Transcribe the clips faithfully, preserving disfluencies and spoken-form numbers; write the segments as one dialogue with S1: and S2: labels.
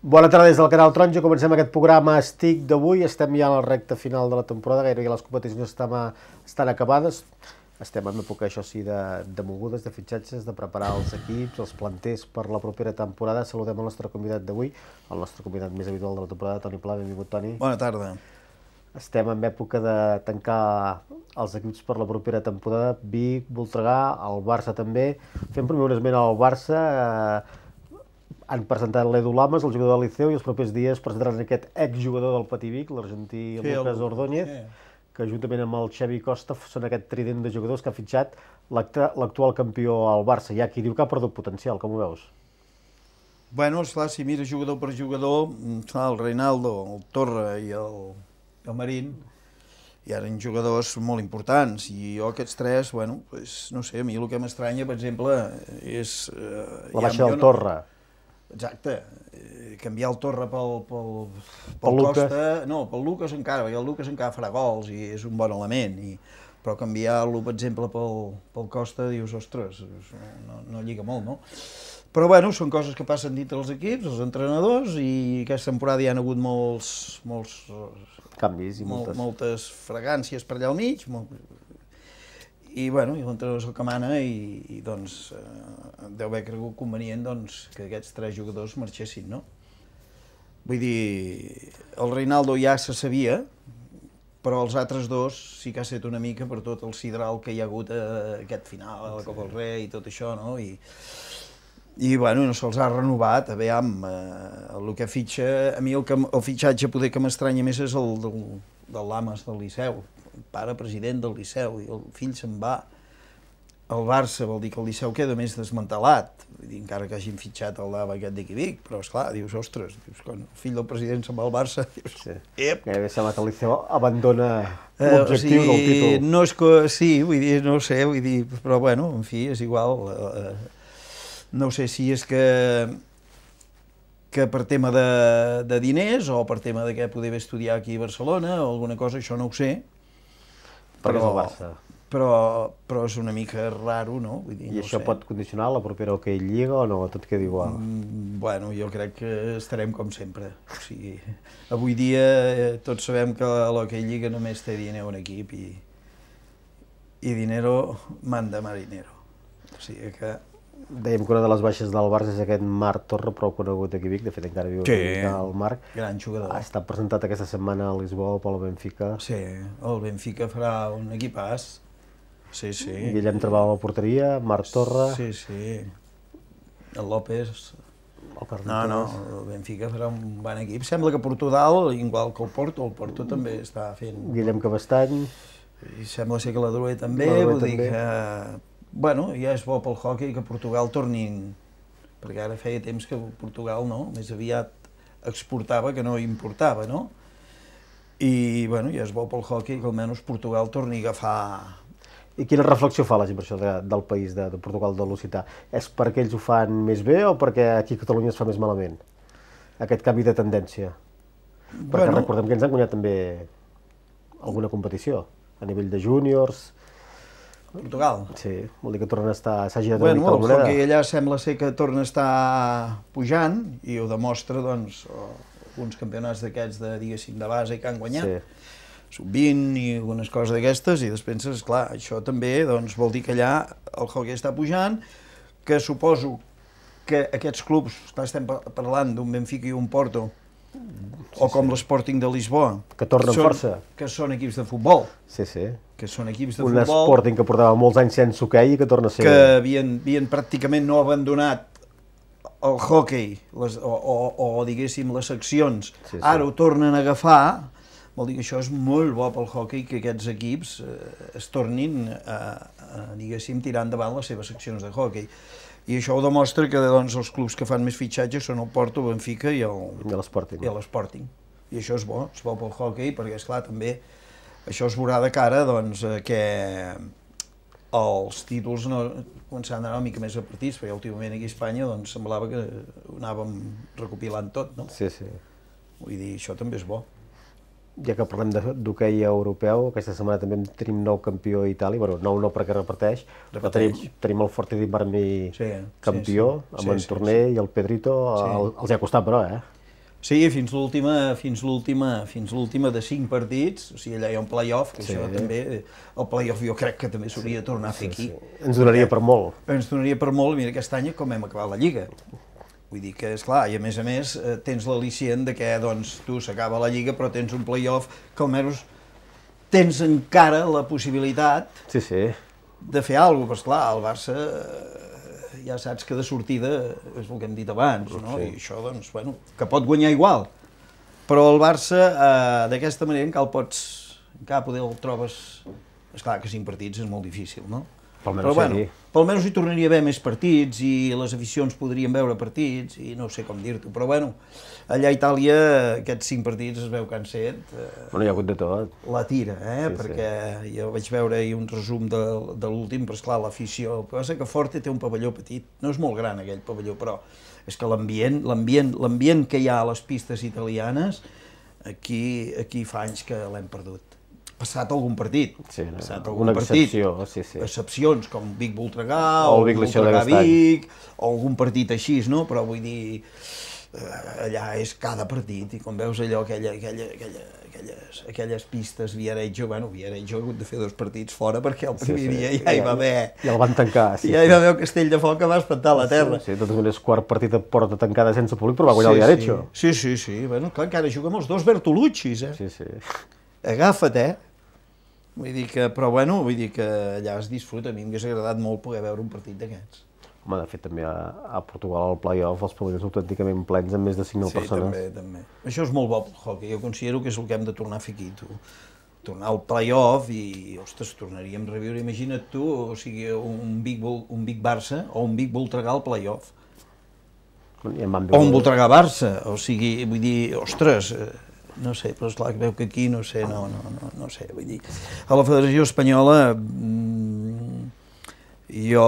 S1: Bona tarda des del Canal Taronja, comencem aquest programa Estic d'avui, estem ja a la recta final de la temporada, gairebé les competicions estan, estan acabades, estem en època, això sí, de, de mogudes, de fitxatges, de preparar els equips, els planters per la propera temporada. Saludem el nostre convidat d'avui, el nostre convidat més habitual de la temporada, Toni Pla. Benvingut, Toni.
S2: Bona tarda.
S1: Estem en època de tancar els equips per la propera temporada, Vic, Voltregà, el Barça també. Fem primer un esment al Barça, eh, han presentat l'Edu Lamas, el jugador del Liceu, i els propers dies presentaran aquest exjugador del Patí Vic, l'argentí Lucas Ordóñez, que juntament amb el Xavi Costa són aquest trident de jugadors que ha fitxat l'actual campió al Barça. Hi ha qui diu que ha perdut potencial, com ho veus?
S2: Bueno, esclar, si mires jugador per jugador, el Reinaldo, el Torra i el, el Marín, hi ha jugadors molt importants, i jo aquests tres, bueno, pues, no sé, a mi el que m'estranya, per exemple, és... Eh,
S1: la baixa del no... Torra.
S2: Exacte, eh, canviar el Torra pel, pel, pel Costa, no, pel Lucas encara, perquè el Lucas encara farà gols i és un bon element, i, però canviar-lo, per exemple, pel, pel Costa, dius, ostres, no, no lliga molt, no? Però, bueno, són coses que passen dintre els equips, els entrenadors, i aquesta temporada hi ha hagut molts... molts
S1: canvis i moltes...
S2: moltes fragàncies per allà al mig, molt, i, bueno, i l'entrenador és el que mana i, i doncs, eh, deu haver cregut convenient doncs, que aquests tres jugadors marxessin, no? Vull dir, el Reinaldo ja se sabia, però els altres dos sí que ha estat una mica per tot el sidral que hi ha hagut a aquest final, a la Copa del Rei i tot això, no? I, i bueno, no se'ls ha renovat, a veure, eh, el que fitxa, a mi el, que, el fitxatge poder que m'estranya més és el del, del Lamas del Liceu, pare president del Liceu, i el fill se'n va al Barça, vol dir que el Liceu queda més desmantelat, vull dir, encara que hagin fitxat el Lava aquest d'aquí Vic, però esclar, dius, ostres, dius, quan el fill del president se'n va al Barça, dius,
S1: sí.
S2: Ep!
S1: Gairebé sembla que el Liceu abandona l'objectiu
S2: eh, o sigui,
S1: del títol.
S2: No és que, sí, vull dir, no ho sé, vull dir, però bueno, en fi, és igual, eh, no sé si és que que per tema de, de diners o per tema de que poder estudiar aquí a Barcelona o alguna cosa, això no ho sé,
S1: però, és el Barça.
S2: Però, però és una mica raro, no? Vull dir,
S1: I
S2: no
S1: això
S2: sé.
S1: pot condicionar la propera Hockey Lliga o no? Tot queda igual?
S2: Mm, bueno, jo crec que estarem com sempre. O sigui, avui dia eh, tots sabem que l'Hockey Lliga només té diner un equip i, i dinero manda marinero. O sigui que...
S1: Dèiem que una de les baixes del Barça és aquest Marc Torra, prou conegut aquí a Vic, de fet encara viu
S2: sí,
S1: el Marc.
S2: Gran jugador.
S1: Ha estat presentat aquesta setmana a Lisboa pel Benfica.
S2: Sí, el Benfica farà un equipàs. Sí, sí.
S1: Guillem treballa a la porteria, Marc Torra...
S2: Sí, sí. El López...
S1: El
S2: no, no, el Benfica farà un bon equip. Sembla que Portugal, igual que el Porto, el Porto també està fent...
S1: Guillem Cabestany...
S2: I sembla ser que la Drouet també, vull dir que... Bueno, ja és bo pel hoquei que Portugal tornin, perquè ara feia temps que Portugal, no?, més aviat exportava que no importava, no? I, bueno, ja és bo pel hoquei que almenys Portugal torni a agafar...
S1: I quina reflexió fa la gent per això de, del país, de, de Portugal, de l'Occità? És perquè ells ho fan més bé o perquè aquí a Catalunya es fa més malament? Aquest canvi de tendència? Perquè bueno, recordem que ens han guanyat també alguna competició, a nivell de júniors...
S2: Portugal?
S1: Sí, vol dir que torna a estar... s'ha girat
S2: bueno,
S1: una mica la moneda.
S2: El hoquei allà sembla ser que torna a estar pujant i ho demostra, doncs, alguns campionats d'aquests de, diguéssim, de base que han guanyat. Sí. sub vint i algunes coses d'aquestes, i després penses, clar, això també doncs, vol dir que allà el hoquei està pujant, que suposo que aquests clubs, estem parlant d'un Benfica i un Porto, sí, o com sí. l'Sporting de Lisboa,
S1: que tornen
S2: són,
S1: força.
S2: Que són equips de futbol.
S1: Sí, sí.
S2: Que són equips de
S1: un
S2: futbol...
S1: Un Sporting que portava molts anys sense hoquei i que torna a ser...
S2: Que havien, havien pràcticament no abandonat el hoquei, les, o, o, o diguéssim les seccions, sí, sí. Ara ho tornen a agafar, vol dir que això és molt bo pel hoquei, que aquests equips eh, es tornin a, a, diguéssim, tirar endavant les seves seccions de hoquei. I això ho demostra que doncs, els clubs que fan més fitxatges són el Porto, el Benfica i l'Sporting. I l'Sporting. I això és bo, és bo pel hoquei, perquè, esclar, també això es veurà de cara doncs, que els títols no, començaran a anar una mica més a partits, perquè últimament aquí a Espanya doncs, semblava que ho anàvem recopilant tot, no?
S1: Sí, sí.
S2: Vull dir, això també és bo.
S1: Ja que parlem d'hoquei europeu, aquesta setmana també tenim nou campió a Itàlia, bueno, nou no perquè repeteix, però tenim, tenim el Forte-Dei-Marmi sí, campió, sí, sí. amb sí, en Torner sí, sí. i el Pedrito, sí. el, els hi ha costat però, eh?
S2: Sí, fins l'última, fins l'última, fins l'última de cinc partits, o sigui, allà hi ha un play-off, que sí. Això també, el play-off jo crec que també s'hauria de tornar a fer aquí.
S1: Sí, sí. Ens donaria per molt.
S2: Ens donaria per molt, mira aquest any com hem acabat la Lliga. Vull dir que, esclar, i a més a més tens l'al·licient de que, doncs, tu s'acaba la Lliga però tens un play-off que almenys tens encara la possibilitat
S1: sí, sí.
S2: de fer alguna cosa, però esclar, el Barça ja saps que de sortida és el que hem dit abans, no? Sí. I això, doncs, bueno, que pot guanyar igual. Però el Barça, eh, d'aquesta manera, encara el pots, encara poder el trobes... Esclar, que cinc partits és molt difícil, no? Però, bueno, pel menys hi tornaria a haver més partits i les aficions podrien veure partits i no sé com dir-t'ho, però, bueno, allà a Itàlia aquests cinc partits es veu que han set... Eh,
S1: bueno, hi ha hagut de tot.
S2: La tira, eh? Sí, perquè sí. Jo vaig veure ahir un resum de, de l'últim, però, esclar, l'afició... El que passa que Forte té un pavelló petit, no és molt gran aquell pavelló, però és que l'ambient, l'ambient, l'ambient que hi ha a les pistes italianes, aquí, aquí fa anys que l'hem perdut. Passat algun partit,
S1: sí, no,
S2: passat algun
S1: una
S2: partit,
S1: excepció, sí, sí.
S2: excepcions com Vic Voltregà
S1: o,
S2: o
S1: Vic
S2: Voltregà Vic, o algun partit així, no? Però vull dir, allà és cada partit, i quan veus allò, aquella, aquella, aquella, aquelles, aquelles pistes, Viareggio, bueno, Viareggio ha hagut de fer dos partits fora perquè el primer sí, sí. dia ja hi va haver...
S1: Ja el van tancar, sí.
S2: Ja hi va haver el Castell de Foc que va espantar la terra.
S1: Sí, sí, de totes maneres, quart partit a porta tancada sense públic, però va guanyar sí, el Viareggio.
S2: Sí, sí, sí, bueno, clar, encara juguem els dos Bertoluccis, eh?
S1: Sí, sí.
S2: Agafa't, eh? Vull dir que, però bueno, vull dir que allà es disfruta. A mi m'hagués agradat molt poder veure un partit d'aquests.
S1: Home, de fet, també a, a Portugal, al play-off, els pavellons autènticament plens amb més de cinc mil
S2: sí,
S1: persones.
S2: Sí, també, també. Això és molt bo pel hockey. Jo considero que és el que hem de tornar a fer aquí, tu. Tornar al play-off i, ostres, tornaríem a reviure. Imagina't tu, o sigui, un Vic, un Vic Barça o un Vic Voltregà al play-off. O un Voltregà Barça, o sigui, vull dir, ostres... No sé, però esclar, veu que aquí, no sé, no, no, no, no sé, vull dir... A la Federació Espanyola, jo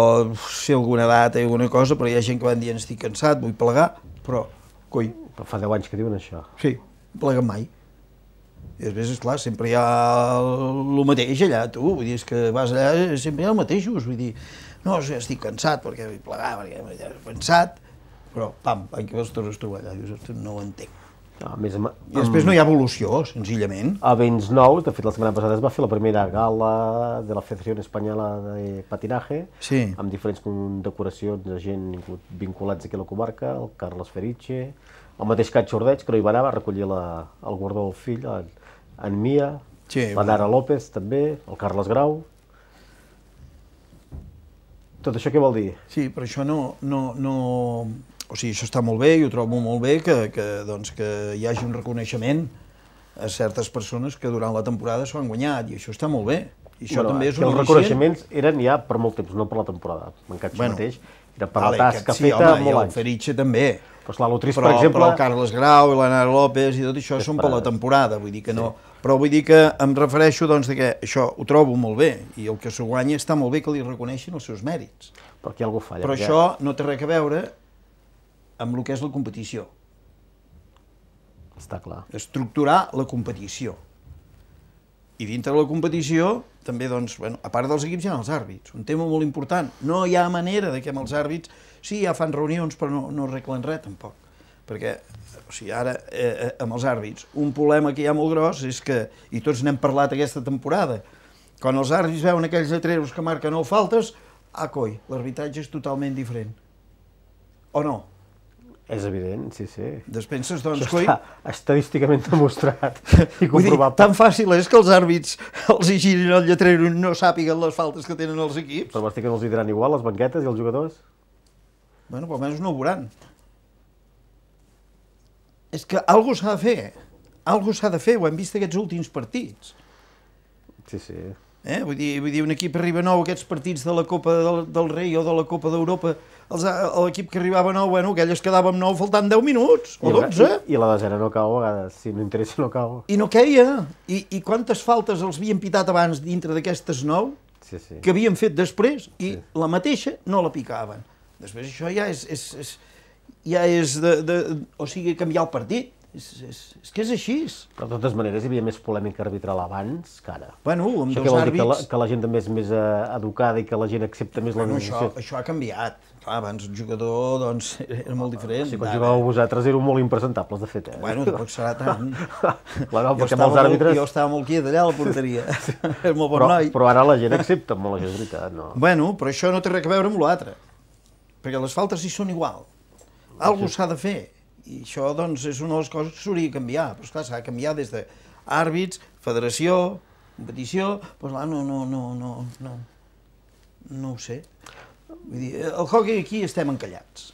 S2: sé alguna data i alguna cosa, però hi ha gent que van dir estic cansat, vull plegar, però, coi...
S1: Però fa deu anys que diuen això.
S2: Sí, pleguen mai. I després, esclar, sempre hi ha el mateix allà, tu, vull dir, és que vas allà, sempre hi ha el mateixos, vull dir, no, estic cansat perquè vull plegar, perquè he pensat, però, pam, l'any que veus tornes a trobar allà, dius, no ho entenc.
S1: No, més amb,
S2: I després no hi ha evolució, senzillament.
S1: A Vents Nou, de fet la setmana passada es va fer la primera gala de la Federació Espanyola de Patinaje,
S2: sí. Amb
S1: diferents decoracions de gent vinculats aquí a la comarca, el Carles Feriche, el mateix Cat Xordeig, que no hi va anar, va recollir la, el guardó del fill, en, en Mia, sí, la Nara López també, el Carles Grau. Tot això què vol dir?
S2: Sí, però això no... no, no... O sigui, això està molt bé, i ho trobo molt bé que, que, doncs, que hi hagi un reconeixement a certes persones que durant la temporada s'ho han guanyat, i això està molt bé. I això
S1: bueno,
S2: també és
S1: un els reconeixements eren ja per molt temps, no per la temporada. M'encaixa bueno, mateix, era per vale, la tasca sí, feta home, molt anys.
S2: I el Feriche també.
S1: Però, esclar, l'Utrís,
S2: però,
S1: per exemple...
S2: però el Carles Grau i la Nara López i tot això són per la temporada, vull dir que no... Sí. Però vull dir que em refereixo, doncs, que això ho trobo molt bé, i el que s'ho guanya està molt bé que li reconeixin els seus mèrits.
S1: Però aquí algú falla.
S2: Però ja... això no té res a veure amb el que és la competició.
S1: Està clar.
S2: Estructurar la competició. I dintre de la competició, també, doncs, bueno, a part dels equips hi ha els àrbits, un tema molt important. No hi ha manera de que amb els àrbits, sí, ja fan reunions, però no, no arreglen res, tampoc. Perquè, o sigui, ara, eh, amb els àrbits, un problema que hi ha molt gros és que, i tots n'hem parlat aquesta temporada, quan els àrbits veuen aquells letreros que marquen no faltes, ah, coi, l'arbitratge és totalment diferent. O no?
S1: És evident, sí, sí.
S2: Després penses, doncs,
S1: coi... Això està estadísticament demostrat i
S2: Dir,
S1: comprovable.
S2: tan fàcil és que els àrbits els hi girin el lletrero i no sàpiguen les faltes que tenen els equips.
S1: Però m'estic que no els hi diran igual, les banquetes i els jugadors?
S2: Bueno, però almenys no ho veuran. És que alguna cosa s'ha de fer. Alguna cosa s'ha de fer, ho hem vist aquests últims partits.
S1: Sí, sí.
S2: Eh? Vull dir, vull dir, un equip arriba nou, aquests partits de la Copa del, del Rei o de la Copa d'Europa, l'equip que arribava nou, bueno, aquell es quedava amb nou faltant deu minuts, o dotze.
S1: I, i la desena no cau, a vegades, si no interessa no cau.
S2: I no queia. I, i quantes faltes els havien pitat abans dintre d'aquestes nou,
S1: sí, sí.
S2: que havien fet després, i
S1: sí.
S2: la mateixa no la picaven. Després això ja és, és, és, ja és de, de, o sigui, canviar el partit. És, és, és que és així.
S1: Però de totes maneres hi havia més polèmica arbitral abans que ara.
S2: Bueno, amb
S1: Això
S2: dos
S1: què vol dir? Que la,
S2: àrbits...
S1: que la gent també és més eh, educada i que la gent accepta més la
S2: Bueno, això,
S1: decisió?
S2: això ha canviat. Clar, abans el jugador doncs, era molt diferent.
S1: Si quan jugàveu vosaltres éreu molt impresentables, de fet. Eh?
S2: Bueno, tampoc serà tant.
S1: Clar, no,
S2: jo,
S1: perquè
S2: estava
S1: molts àrbitres...
S2: molt, jo estava molt quiet allà a la porteria. Era molt bon
S1: però,
S2: noi.
S1: però ara la gent accepta molt, això és veritat, no?
S2: Bueno, però això no té res a veure amb l'altre. Perquè les faltes hi són igual. Algú s'ha de fer. I això, doncs, és una de les coses que s'hauria de canviar. Però, esclar, s'ha de canviar des d'àrbits, federació, competició... Doncs, clar, no, no, no, no, no, no ho sé. Vull dir, el hockey aquí estem encallats.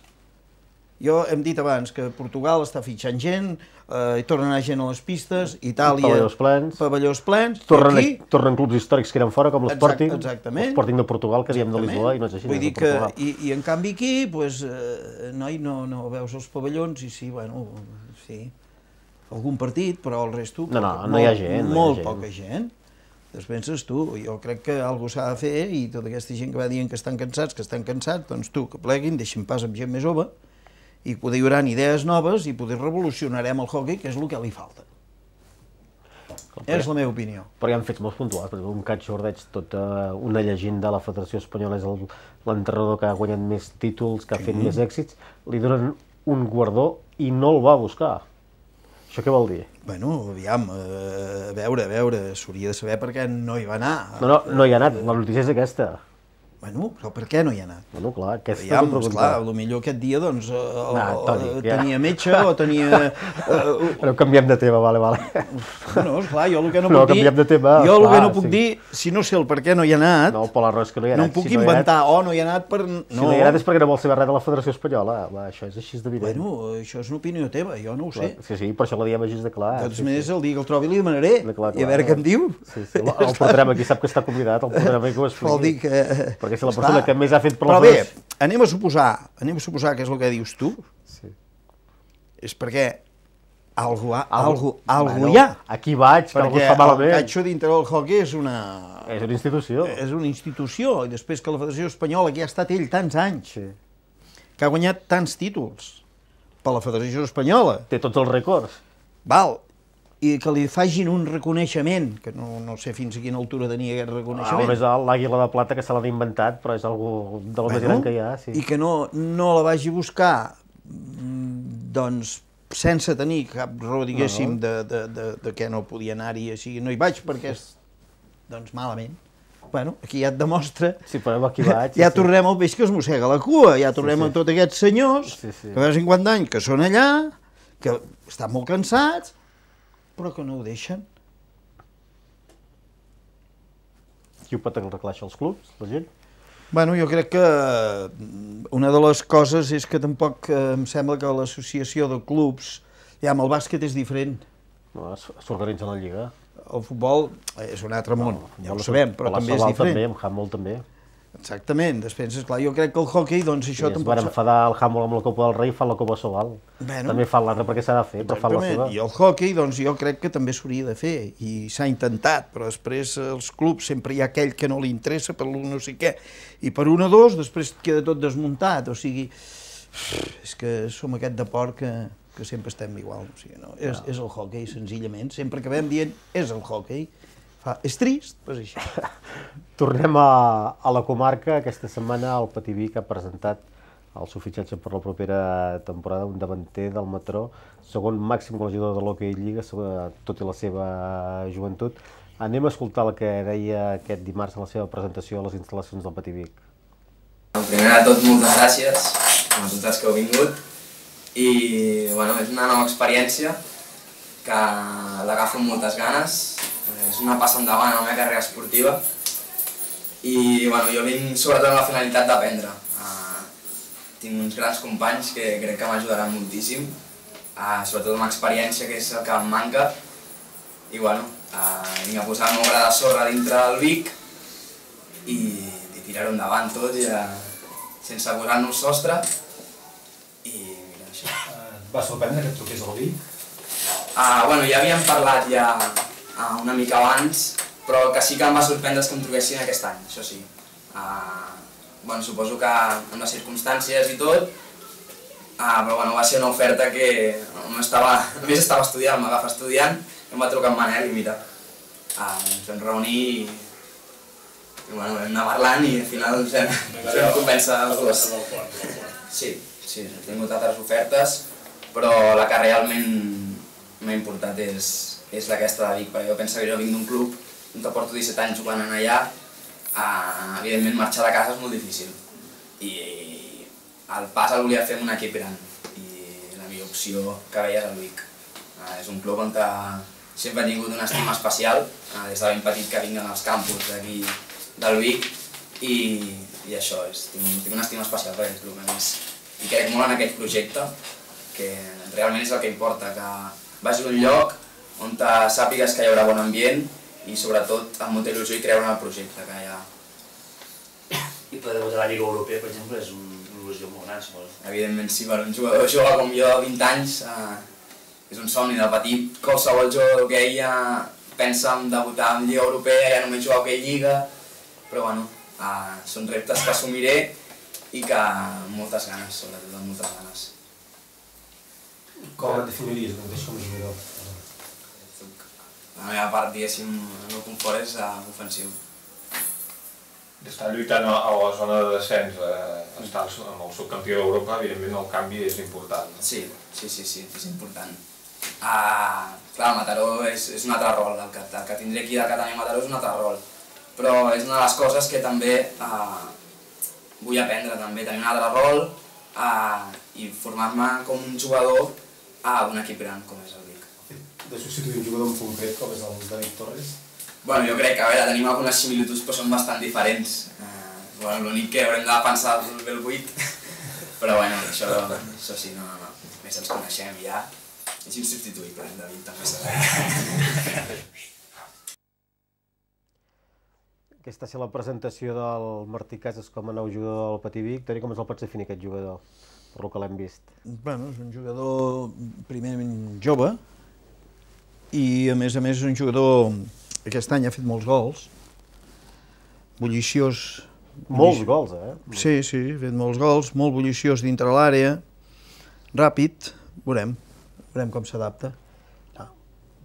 S2: Jo hem dit abans que Portugal està fitxant gent, eh, hi torna a anar gent a les pistes, Itàlia...
S1: Pavellons plens.
S2: Pavellons plens.
S1: Tornen,
S2: aquí,
S1: tornen clubs històrics que eren fora, com l'Sporting.
S2: Exactament.
S1: L'Sporting de Portugal, que diem de Lisboa, i no és així.
S2: Vull dir
S1: de
S2: que,
S1: Portugal.
S2: i, i en canvi aquí, pues, eh, noi, no, no veus els pavellons, i sí, bueno, sí, algun partit, però el resto...
S1: No, no,
S2: molt,
S1: no hi ha gent. No
S2: molt
S1: hi ha gent.
S2: poca gent. Després penses tu, jo crec que alguna cosa s'ha de fer, i tota aquesta gent que va dient que estan cansats, que estan cansats, doncs tu, que pleguin, deixin pas amb gent més jove, i poder hi haurà idees noves i poder revolucionarem el hockey, que és el que li falta. És la meva opinió.
S1: Però hi ha fets molt puntuals. Per exemple, un Cat Jordeig, tota una llegenda de la Federació Espanyola, és el- l'entrenador que ha guanyat més títols, que ha fet més èxits, li donen un guardó i no el va buscar. Això què vol dir?
S2: Bueno, aviam, eh, a veure, a veure, s'hauria de saber per què no hi va anar.
S1: No, no, no hi ha anat. La notícia és aquesta.
S2: Bueno, però per què no hi ha anat?
S1: Bueno, clar, aquesta
S2: Aviam,
S1: és la
S2: esclar,
S1: pregunta.
S2: potser aquest dia, doncs, eh,
S1: Ah,
S2: o-
S1: Toni,
S2: o
S1: ja.
S2: tenia metge o tenia... eh,
S1: Però canviem de tema, vale, vale.
S2: Bueno, esclar, jo el que no,
S1: No,
S2: puc dir...
S1: canviem de tema,
S2: jo el que
S1: clar,
S2: no puc
S1: sí.
S2: dir, si no sé el per què no hi ha anat,
S1: No, per la raó és que no hi ha
S2: no
S1: anat.
S2: em puc
S1: Si no hi ha anat-
S2: inventar, oh, no hi ha anat per... No.
S1: Si no hi ha anat és perquè no vol saber res de la Federació Espanyola. Va, això és així d'evident.
S2: Bueno, això és una opinió teva, jo no ho sé.
S1: Sí, sí, per això la diem així de clar.
S2: De totes
S1: sí,
S2: maneres,
S1: sí.
S2: el dia que el trobi li demanaré,
S1: De clar,
S2: i a veure
S1: clar.
S2: què em diu.
S1: Sí, sí. El, el portarem aquí, sap que està convidat, el portarem aquí que ho expliqui.
S2: Vol dir que...
S1: Perquè si la
S2: Esclar.
S1: persona que més ha fet per la
S2: Però bé,
S1: Federació...
S2: anem a suposar, anem a suposar que és el que dius tu,
S1: Sí.
S2: és perquè algú, ha,
S1: Algú-
S2: algú, algú
S1: Bueno,
S2: hi ha.
S1: Aquí vaig, que algú
S2: Perquè
S1: es fa
S2: el
S1: malament.
S2: catxo dintre del hockey és una...
S1: És una institució.
S2: és una institució, i després que la Federació Espanyola, que ha estat ell tants anys,
S1: Sí.
S2: que ha guanyat tants títols per la Federació Espanyola,
S1: Té tots els rècords.
S2: val, i que li facin un reconeixement, que no, no sé fins a quina altura tenia aquest
S1: Ah,
S2: reconeixement,
S1: només l'àguila de plata que se l'han inventat, però és algú de lo més gran que hi ha, sí.
S2: i que no, no la vagi a buscar, mm, doncs, sense tenir cap raó, diguéssim,
S1: No, no.
S2: de, de, de, de que no podia anar-hi, o sigui, no hi vaig perquè és, doncs, malament. Bueno, aquí ja et demostra,
S1: Sí, però aquí vaig.
S2: ja
S1: sí.
S2: tornem al peix que es mossega la cua, ja tornem
S1: sí.
S2: a tots aquests senyors,
S1: Sí, sí.
S2: que de cinquanta anys que són allà, que estan molt cansats, però que no ho deixen.
S1: Qui ho pot arreglar això, els clubs, la gent?
S2: Bueno, jo crec que mm, una de les coses és que tampoc eh, em sembla que l'associació de clubs, ja amb el bàsquet és diferent,
S1: No, s- s'organitza la lliga.
S2: el futbol és un altre món, ja ho
S1: Futbol,
S2: sabem, però
S1: la
S2: també és
S1: Sobal
S2: diferent.
S1: també, amb handball també.
S2: Exactament, després, esclar, jo crec que el hockey, doncs
S1: Sí,
S2: això
S1: es
S2: tampoc...
S1: van enfadar el handball amb la Copa del Rei i fan la Copa Sobal.
S2: Bueno.
S1: També fan l'altra perquè s'ha de fer, però fan la
S2: Exactament,
S1: seva.
S2: i el hockey, doncs jo crec que també s'hauria de fer, i s'ha intentat, però després els clubs sempre hi ha aquell que no li interessa per l'un no sé què, i per un o dos després queda tot desmuntat, o sigui, és que som aquest deport que, que sempre estem igual, o sigui, no? és, és el hockey, senzillament, sempre que vam dient és el hockey, fa, és trist, però és així.
S1: Tornem a, a la comarca. Aquesta setmana el Pativí que ha presentat el seu fitxatge per la propera temporada, un davanter del Mataró, segon màxim golejador de l'Hockey Lliga, tot i la seva joventut. Anem a escoltar el que deia aquest dimarts en la seva presentació a les instal·lacions del Pativí.
S3: Primer de tot, moltes gràcies a tots els que heu vingut i bueno, és una nova experiència que l'agafo amb moltes ganes, és una passa endavant a la meva carrera esportiva i bueno, jo vinc sobretot amb la finalitat d'aprendre. Uh, tinc uns grans companys que crec que m'ajudaran moltíssim, uh, sobretot amb experiència, que és el que em manca, i bueno, uh, vinc a posar el meu gra de sorra dintre del Vic i, i tirar-ho endavant tot, ja, sense posar-nos sostre, i mira això.
S4: Et va sorprendre que et truqués al Vic?
S3: Uh, bueno, ja havíem parlat ja uh, una mica abans, però que sí que em va sorprendre que em truquessin aquest any, això sí. Uh, bueno, suposo que amb les circumstàncies i tot, Ah, però bueno, va ser una oferta que no estava, a més estava estudiant, m'agafa estudiant, em va trucar en Manel i mira, ah, ens vam reunir i, i bueno, vam anar parlant i al final ens vam, ens vam convèncer els dos. Sí, sí, he tingut altres ofertes, però la que realment m'ha importat és, és aquesta de Vic, perquè jo penso que jo vinc d'un club on te porto disset anys jugant en allà, ah, evidentment marxar de casa és molt difícil i el pas el volia fer en un equip gran i la millor opció que veia és el Vic. Ah, és un club on sempre he tingut una estima especial, ah, des de ben petit que vinc als campus d'aquí del Vic i, i això, és, tinc, tinc una estima especial per aquest club a més. I crec molt en aquest projecte, que realment és el que importa, que vagis a un lloc on sàpigues que hi haurà bon ambient i sobretot amb molta il·lusió i creure en el projecte que hi ha.
S5: I poder debutar a la Lliga Europea, per exemple, és una il·lusió molt gran, suposo.
S3: Evidentment sí, per un jugador jove com jo de vint anys eh, és un somni de petit. Qualsevol jugador d'hoquei ja pensa en debutar en Lliga Europea, ja només jugar a hoquei Lliga, però bueno, eh, són reptes que assumiré i que amb moltes ganes, sobretot amb moltes ganes.
S4: Com et definiries com a jugador?
S3: La meva part, diguéssim, el meu confort és uh, ofensiu.
S6: Estar lluitant a la zona de descens, eh, estar amb el subcampió d'Europa, evidentment el canvi és important.
S3: Sí, sí, sí, sí, és important. Uh, clar, el Mataró és, és un altre rol, el que, el que tindré aquí de Catània Mataró és un altre rol, però és una de les coses que també uh, vull aprendre, també tenir un altre rol uh, i formar-me com un jugador uh, d'un equip gran, com és el Vic.
S4: De substituir un jugador en concret, com és el David Torres?
S3: Bueno, jo crec que, a veure, tenim algunes similituds però són bastant diferents. Uh, bueno, l'únic que haurem de pensar és el vuit, però bueno, això, això sí, no, no, no. Més ens coneixem ja. És insubstituïble, en David també s'ha de.
S1: Aquesta va ser la presentació del Martí Casas com a nou jugador del Patí Vic. Toni, com ens el pots definir, aquest jugador, per lo que l'hem vist?
S2: Bueno, és un jugador primerament jove i a més a més és un jugador aquest any ha fet molts gols, bulliciós.
S1: Molts gols, eh?
S2: Sí, sí, ha fet molts gols, molt bulliciós dintre l'àrea, ràpid, veurem, veurem com s'adapta.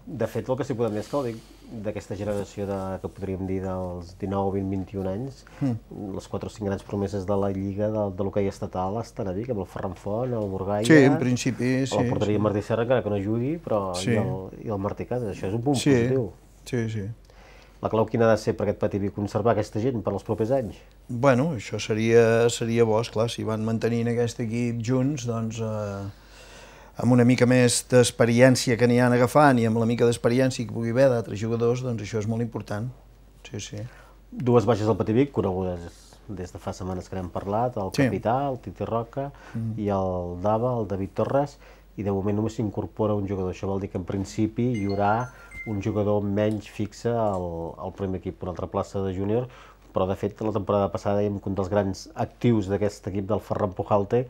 S1: De fet, el que s'hi podem dir és que el Vic, d'aquesta generació de, que podríem dir dels dinou, vint, vint-i-un anys, mm. les quatre o cinc grans promeses de la Lliga de, de l'hoquei estatal estan a Vic, amb el Ferran Font, el Burgaire...
S2: Sí, en principi, sí.
S1: La porteria sí. Martí Serra, encara que no jugui, però
S2: sí.
S1: i, el, i el Martí Casas, això és un punt
S2: sí.
S1: positiu.
S2: Sí, sí.
S1: La clau quina ha de ser per aquest Patí Vic conservar aquesta gent per als propers anys?
S2: Bueno, això seria, seria bo, esclar, si van mantenint aquest equip junts, doncs... Eh, amb una mica més d'experiència que n'hi han agafant i amb la mica d'experiència que pugui haver d'altres jugadors, doncs això és molt important. Sí, sí.
S1: Dues baixes del Patí Vic, conegudes des de fa setmanes que n'hem parlat, el
S2: sí.
S1: capità, el Titi Roca, mm. i el Dava, el David Torres, i de moment només s'incorpora un jugador. Això vol dir que en principi hi haurà un jugador menys fixe al, al primer equip, una altra plaça de júnior, però de fet la temporada passada dèiem que un dels grans actius d'aquest equip del Ferran Pujalte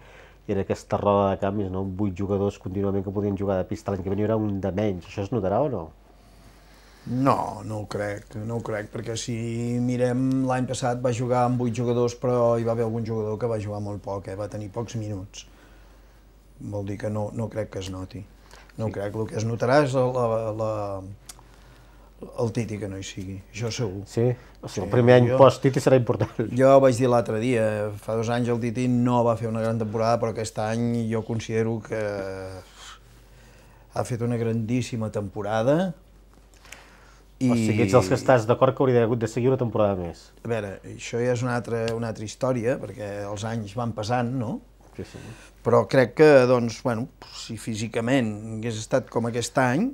S1: era aquesta roda de canvis, no? Vuit jugadors contínuament que podien jugar de pista, l'any que ve n'hi haurà un de menys. Això es notarà o no?
S2: No, no ho crec, no ho crec, perquè si mirem l'any passat va jugar amb vuit jugadors, però hi va haver algun jugador que va jugar molt poc, eh? Va tenir pocs minuts. Vol dir que no, no crec que es noti. No sí. crec, el que es notarà és la, la, el Titi que no hi sigui, això segur.
S1: Sí? O sigui, sí, el primer any jo, post-Titi serà important.
S2: Jo vaig dir l'altre dia, fa dos anys el Titi no va fer una gran temporada, però aquest any jo considero que ha fet una grandíssima temporada. I...
S1: O sigui, ets dels que estàs d'acord que hauria hagut de seguir una temporada més.
S2: A veure, això ja és una altra, una altra història, perquè els anys van passant, no?
S1: Sí, sí.
S2: Però crec que, doncs, bueno, si físicament hagués estat com aquest any,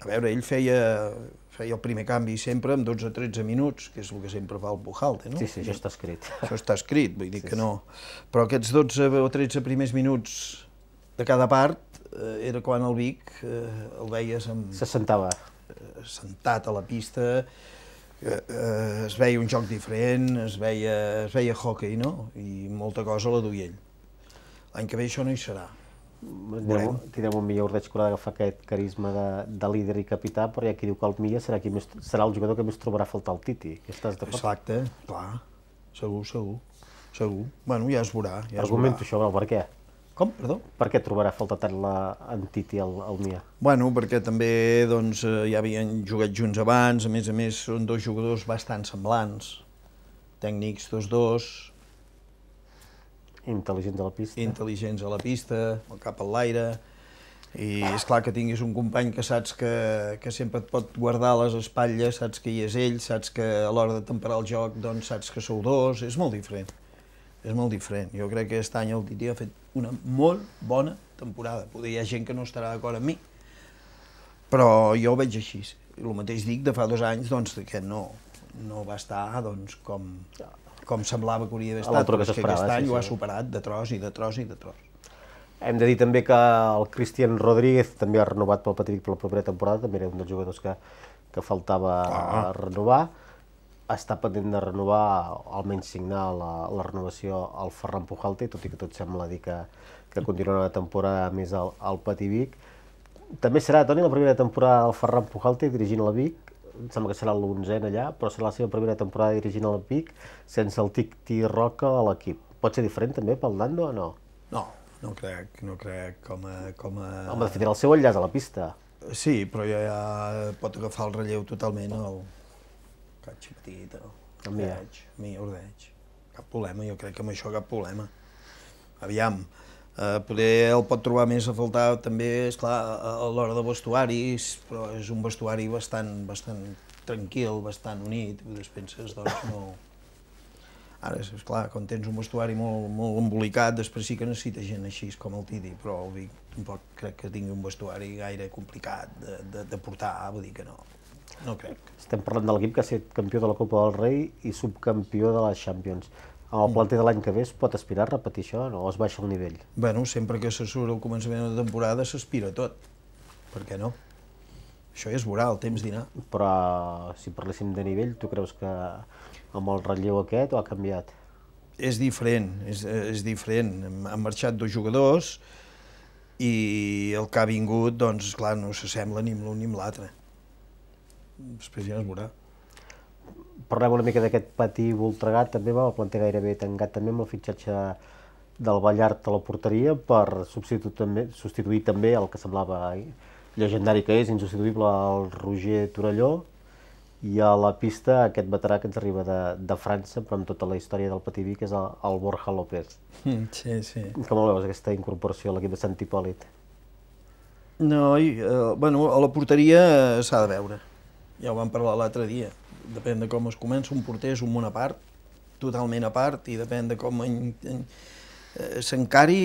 S2: a veure, ell feia, feia el primer canvi sempre amb dotze o tretze minuts, que és el que sempre fa el Pujalte, no?
S1: Sí, sí, això està escrit.
S2: Això està escrit, vull dir
S1: sí,
S2: que no. Però aquests dotze o tretze primers minuts de cada part eh, era quan el Vic eh, el veies amb...
S1: Se sentava.
S2: Eh, sentat a la pista, eh, eh, es veia un joc diferent, es veia, es veia hockey, no? I molta cosa la duia ell. L'any que ve això no hi serà.
S1: Tindrem, tindrem un Milla Ordeig que haurà d'agafar aquest carisma de, de líder i capità, però hi ha qui diu que el Milla serà, qui més, serà el jugador que més trobarà a faltar el Titi. Estàs d'acord?
S2: Exacte, clar, segur, segur. segur. Bueno, ja es veurà, ja es
S1: Argumento
S2: veurà.
S1: això, per què?
S2: Com, perdó?
S1: Per què trobarà a faltar tant la, en Titi el, el Mia?
S2: Bueno, perquè també doncs, eh, ja havien jugat junts abans, a més a més són dos jugadors bastant semblants, tècnics tots dos,
S1: Intel·ligents a la pista.
S2: intel·ligents a la pista, el cap a l'aire, i és clar que tinguis un company que saps que, que sempre et pot guardar a les espatlles, saps que hi és ell, saps que a l'hora de temperar el joc doncs saps que sou dos, és molt diferent. És molt diferent. Jo crec que aquest any el Titi ha fet una molt bona temporada. Poder hi ha gent que no estarà d'acord amb mi, però jo ho veig així. El mateix dic de fa dos anys, doncs, que no, no va estar doncs, com, com semblava que hauria d'haver estat,
S1: l'altre que
S2: però és que
S1: s'esperava,
S2: aquest any
S1: sí,
S2: ho ha
S1: sí.
S2: superat de tros i de tros i de tros.
S1: Hem de dir també que el Cristian Rodríguez també ha renovat pel Patí per la propera temporada, també era un dels jugadors que, que faltava
S2: Ah.
S1: renovar. Està pendent de renovar, almenys signar la, la renovació al Ferran Pujalte, tot i que tot sembla dir que, que continuarà una temporada més al, al Patí Vic. També serà, Toni, la primera temporada del Ferran Pujalte dirigint el Vic, em sembla que serà l'onzena allà, però serà la seva primera temporada dirigint el Vic sense el Titi Roca a l'equip. Pot ser diferent també pel Nando o no?
S2: No, no crec, no crec com a... Com a...
S1: Home, de fet, era el seu enllaç a la pista.
S2: Sí, però ja, ja pot agafar el relleu totalment el Catxi Petit, el
S1: El Mia.
S2: Ordeig, mi, Ordeig. Cap problema, jo crec que amb això cap problema. Aviam, eh, poder el pot trobar més a faltar també, esclar, a, a l'hora de vestuaris, però és un vestuari bastant, bastant tranquil, bastant unit, i després penses, doncs, no... Ara, esclar, quan tens un vestuari molt, molt embolicat, després sí que necessita gent així com el Titi, però el Vic tampoc crec que tingui un vestuari gaire complicat de, de, de portar, vull dir que no, no crec.
S1: Estem parlant de l'equip que ha estat campió de la Copa del Rei i subcampió de la Champions. Amb el planter de l'any que ve es pot aspirar a repetir això o es baixa el nivell?
S2: Bueno, sempre que se surt al començament de temporada s'aspira a tot, per què no? Això ja es veurà, el temps dirà.
S1: Però si parléssim de nivell, tu creus que amb el relleu aquest o ha canviat?
S2: És diferent, és, és diferent. Han marxat dos jugadors i el que ha vingut, doncs, clar, no s'assembla ni amb l'un ni amb l'altre. Després ja es veurà.
S1: Parlem una mica d'aquest Patí Voltregà, també va el planter gairebé tancat també amb el fitxatge del Ballart a la porteria per substituir també, substituir també el que semblava llegendari que és, insubstituïble, el Roger Torelló, i a la pista aquest veterà que ens arriba de, de França, però amb tota la història del Patí Vic, és el, el Borja López.
S2: Sí, sí.
S1: Com el veus, aquesta incorporació a l'equip de Sant Hipòlit?
S2: No, i, eh, bueno, a la porteria s'ha de veure. Ja ho vam parlar l'altre dia. Depèn de com es comença, un porter és un món a part, totalment a part, i depèn de com en, en, eh, s'encari,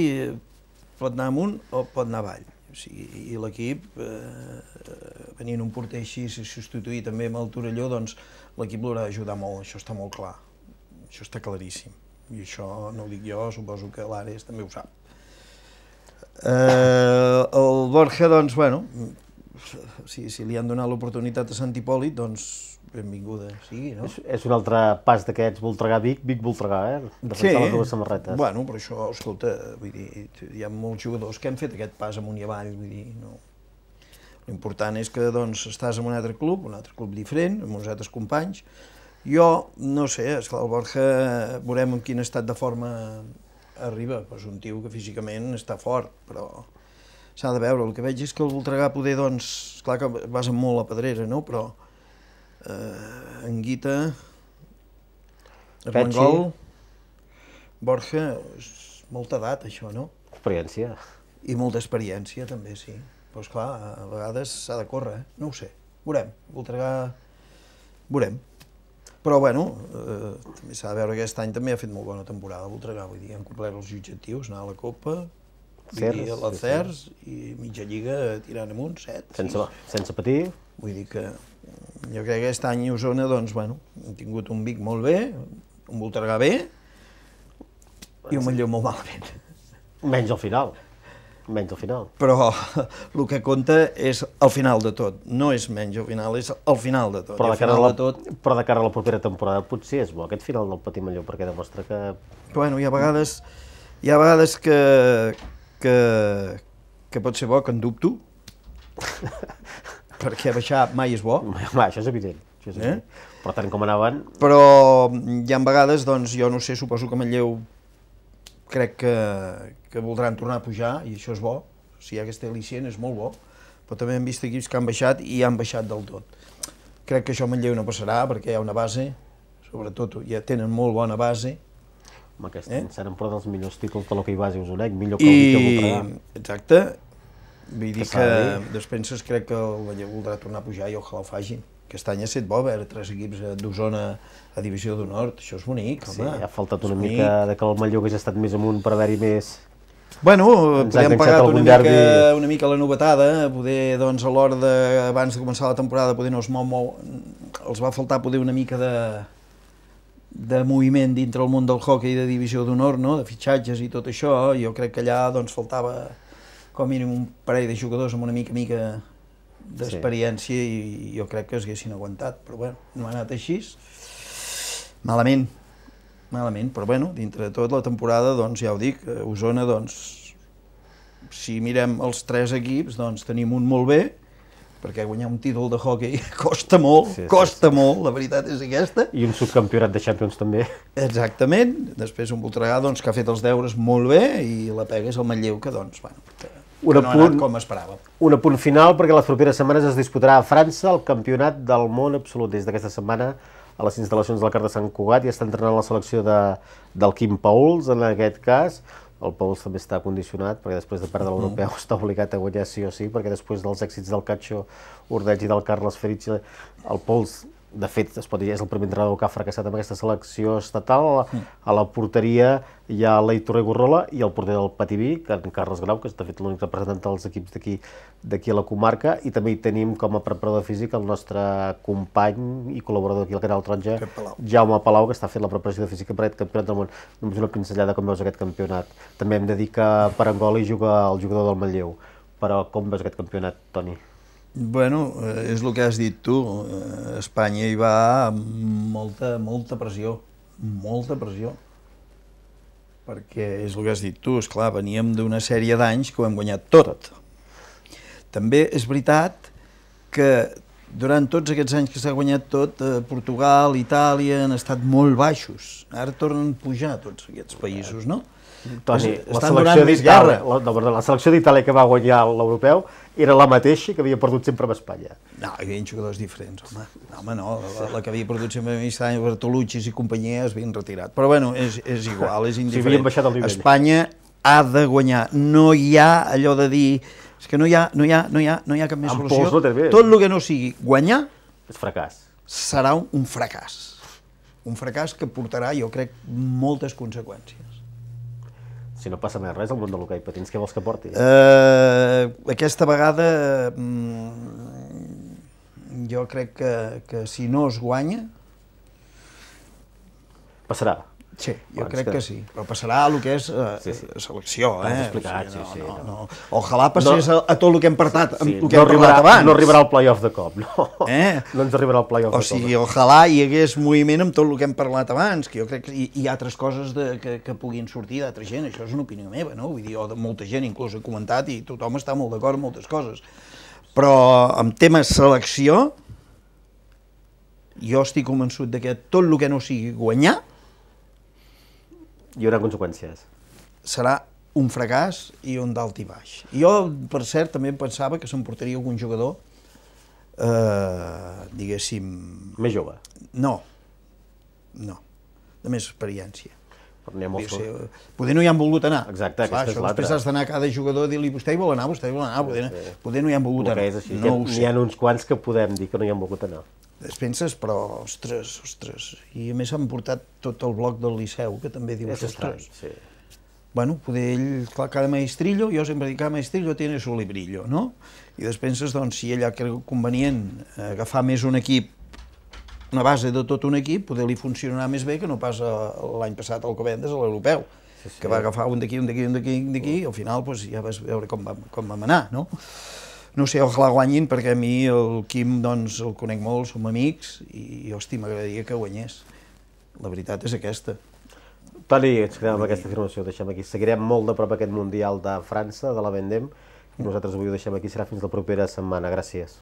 S2: pot anar amunt o pot anar avall. O sigui, i l'equip, eh, venint un porter així, si substituir també amb el Torelló, doncs l'equip l'haurà d'ajudar molt, això està molt clar. Això està claríssim. I això no ho dic jo, suposo que l'Ares també ho sap. Eh, el Borja, doncs, bueno, si, si li han donat l'oportunitat a Sant Hipòlit, doncs benvinguda sigui, no?
S1: És, és un altre pas d'aquests Voltregà-Vic, Vic-Voltregà, eh? Defensar les dues samarretes.
S2: Bueno, però això, escolta, vull dir, hi ha molts jugadors que han fet aquest pas amunt i avall, vull dir, no... L'important és que, doncs, estàs en un altre club, un altre club diferent, amb uns altres companys. Jo, no sé, esclar, el Borja, veurem en quin estat de forma arriba, però és un tio que físicament està fort, però s'ha de veure. El que veig és que el Voltregà poder, doncs, clar que basen molt la pedrera, no?, però eh, en Guita, Armengol, Borja, és molta edat, això, no?
S1: Experiència.
S2: I molta experiència, també, sí. Però, esclar, a vegades s'ha de córrer, eh? No ho sé. Veurem. Voltregà... Veurem. Però, bueno, eh, també s'ha de veure que aquest any també ha fet molt bona temporada Voltregà. Vull dir, han complert els objectius, anar a la Copa, vull dir, a la Cers, i mitja lliga tirant amunt, set, sis.
S1: Sense, sense patir.
S2: Vull dir que jo crec que aquest any a Osona, doncs, bueno, han tingut un Vic molt bé, un Voltregà bé, i un Manlleu molt malament.
S1: Menys al final. Menys al final.
S2: Però el que compta és el final de tot, no és menys al final, és el final de tot.
S1: Però de, cara
S2: final
S1: a la,
S2: de tot...
S1: però de cara a la propera temporada potser és bo aquest final del Patí Manlleu, perquè demostra que...
S2: Bueno, hi ha vegades, hi ha vegades que, que, que pot ser bo, que en dubto, perquè baixar mai és bo.
S1: Va, això és evident. Això és
S2: Eh?
S1: així. Però tant com anaven...
S2: Però hi ha vegades, doncs, jo no sé, suposo que Manlleu crec que, que voldran tornar a pujar, i això és bo. Si hi ha aquesta al·licient és molt bo. Però també hem vist equips que han baixat i han baixat del tot. Crec que això a Manlleu no passarà, perquè hi ha una base, sobretot ja tenen molt bona base.
S1: Amb aquest
S2: Eh?
S1: any seran però dels millors títols de l'hoquei base usonenc, millor que el Vic i el Voltregà.
S2: Exacte. Vull dir
S1: Que
S2: que,
S1: s'ha de dir.
S2: despenses crec que el Manlleu voldrà tornar a pujar i ojalà ho facin. Aquest any ha estat bo veure tres equips d'Osona a Divisió d'Honor, això és bonic,
S1: Sí,
S2: home.
S1: ha faltat
S2: És
S1: una
S2: bonic.
S1: mica de que el Manlleu hagués estat més amunt per haver-hi més...
S2: Bueno,
S1: Ens ha
S2: podem
S1: enganxat
S2: pagar
S1: algun
S2: una mica,
S1: derbi.
S2: una mica la novetada, poder, doncs, a l'hora de, abans de començar la temporada, poder no es mou, mou, els va faltar poder una mica de, de moviment dintre el món del hoquei de Divisió d'Honor, no? De fitxatges i tot això. Jo crec que allà, doncs, faltava com a mínim un parell de jugadors amb una mica mica d'experiència i jo crec que es haguessin aguantat, però bueno, no ha anat així. Malament, malament, però bueno, dintre de tot la temporada, doncs ja ho dic, a Osona, doncs, si mirem els tres equips, doncs tenim un molt bé, perquè guanyar un títol de hoquei costa molt,
S1: Sí, sí,
S2: costa molt, la veritat és aquesta.
S1: I un subcampionat de Champions també.
S2: Exactament, després un Voltregà, doncs, que ha fet els deures molt bé, i la pega és el Manlleu, que, doncs, bueno, que, que
S1: Un
S2: no ha
S1: apunt.
S2: anat com esperàvem.
S1: Un apunt final, perquè les properes setmanes es disputarà a França el campionat del món absolut. Des d'aquesta setmana, a les instal·lacions del Car de Sant Cugat, i està entrenant la selecció de, del Quim Pauls, en aquest cas. El Pauls també està condicionat, perquè després de perdre l'europeu mm. està obligat a guanyar sí o sí, perquè després dels èxits del Cacho Ordeig i del Carles Ferici, el Pauls, de fet, es pot dir, és el primer entrenador que ha fracassat amb aquesta selecció estatal. Mm. A la porteria hi ha l'Eitor Gorrola i el porter del Pativí, que en Carles Grau, que és de fet l'únic representant dels equips d'aquí d'aquí a la comarca, i també hi tenim com a preparador físic el nostre company i col·laborador aquí al Canal Taronja, Jaume Palau, que està fent la preparació física per aquest campionat del món. Només una pinzellada com veus aquest campionat. També hem de dir que per Angola hi juga el jugador del Manlleu. Però com veus aquest campionat, Toni?
S2: Bueno, eh, és el que has dit tu, eh, Espanya hi va amb molta, molta pressió, molta pressió, perquè és el que has dit tu, esclar, veníem d'una sèrie d'anys que ho hem guanyat tot. També és veritat que durant tots aquests anys que s'ha guanyat tot, eh, Portugal, Itàlia han estat molt baixos, ara tornen a pujar tots aquests països, no?
S1: Toni,
S2: Es-
S1: la
S2: estan
S1: selecció
S2: donant més
S1: d'Itàlia,
S2: guerra.
S1: la, no, perdó, la selecció d'Itàlia que va guanyar l'europeu era la mateixa que havia perdut sempre amb Espanya.
S2: No, hi havia jugadors diferents, home. No, home, no, la, la que havia perdut sempre a Mistany, Bertolucci i companyia es havien retirat. Però bueno, és, és igual, és indiferent.
S1: havien baixat el nivell.
S2: Espanya ha de guanyar. No hi ha allò de dir... És que no hi ha, no hi ha, no hi ha, no hi ha cap més
S1: Amb
S2: solució.
S1: pols no té bé.
S2: Tot el que no sigui guanyar
S1: És fracàs.
S2: serà un, un fracàs. Un fracàs que portarà, jo crec, moltes conseqüències.
S1: Si no passa més res al món de l'hoquei patins, què vols que porti?
S2: Eh, aquesta vegada mm, jo crec que, que si no es guanya,
S1: Passarà.
S2: sí, jo
S1: Bueno,
S2: crec
S1: és que-
S2: que sí, però passarà el que és eh,
S1: Sí, sí.
S2: selecció,
S1: Ho has
S2: eh?
S1: explicat,
S2: O sigui,
S1: sí, sí,
S2: no,
S1: no.
S2: no, no. Ojalà passés a, a tot el que hem parlat,
S1: Sí,
S2: el que
S1: no,
S2: hem
S1: arribarà,
S2: parlat abans.
S1: no arribarà al play-off de cop, no.
S2: Eh?
S1: No ens arribarà al play-off
S2: O
S1: de cop.
S2: sigui, ojalà hi hagués moviment amb tot el que hem parlat abans, que jo crec que hi, hi ha altres coses de, que, que puguin sortir d'altra gent, això és una opinió meva, no? Vull dir, o de molta gent inclús ha comentat i tothom està molt d'acord amb moltes coses. Però en temes selecció, jo estic convençut de que tot el que no sigui guanyar
S1: Hi haurà conseqüències.
S2: serà un fracàs i un dalt i baix. Jo, per cert, també pensava que s'emportaria algun jugador, eh, diguéssim...
S1: Més jove.
S2: No, no, de més experiència.
S1: Però n'hi ha molts...
S2: Ser, poder no hi han volgut anar.
S1: Exacte,
S2: Clar,
S1: aquesta és
S2: això després
S1: l'altra.
S2: has d'anar a cada jugador a dir-li vostè hi vol anar, vostè hi vol anar, poder, poder no hi han volgut
S1: El
S2: anar.
S1: que és així,
S2: no
S1: que
S2: ho
S1: n'hi
S2: sé.
S1: ha uns quants que podem dir que no hi han volgut anar.
S2: Es penses, però, ostres, ostres. I a més han portat tot el bloc del Liceu, que també dius,
S1: És estrany,
S2: ostres.
S1: sí.
S2: Bueno, poder ell, clar, cada maestrillo, jo sempre dic, cada maestrillo tiene su librillo, no? I després penses, doncs, si ell ha cregut convenient agafar més un equip, una base de tot un equip, poder-li funcionar més bé que no pas l'any passat al Covendes, a l'europeu,
S1: Sí, sí.
S2: que va agafar un d'aquí, un d'aquí, un d'aquí, un d'aquí, i al final doncs, ja vas veure com vam, com vam anar, no? No sé, ojalà guanyin, perquè a mi el Quim doncs, el conec molt, som amics, i, hosti, m'agradaria que guanyés. La veritat és aquesta.
S1: Toni, ens quedem amb aquesta afirmació, ho deixem aquí. Seguirem molt de prop aquest Mundial de França, de la Vendem, i nosaltres avui ho deixem aquí, serà fins la propera setmana. Gràcies.